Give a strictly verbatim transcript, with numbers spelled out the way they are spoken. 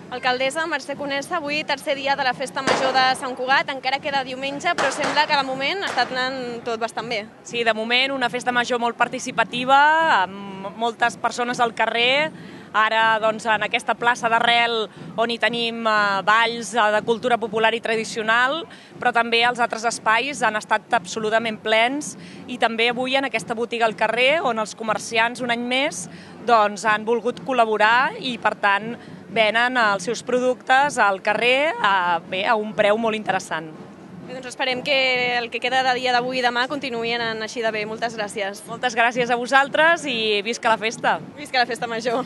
Alcaldessa Mercè Conesa, avui tercer dia de la Festa Major de Sant Cugat, encara queda diumenge, però sembla que de moment està anant tot bastant bé. Sí, de moment una festa major molt participativa, amb moltes persones al carrer, ara doncs, en aquesta plaça d'Arrel on hi tenim eh, balls de cultura popular i tradicional, però també els altres espais han estat absolutament plens i també avui en aquesta botiga al carrer on els comerciants un any més doncs, han volgut col·laborar i per tant venen els seus productes al carrer a, bé, a un preu molt interessant. Bé, doncs esperem que el que queda de dia d'avui i demà continuï anant així de bé. Moltes gràcies. Moltes gràcies a vosaltres i visca la festa! Visca la Festa Major!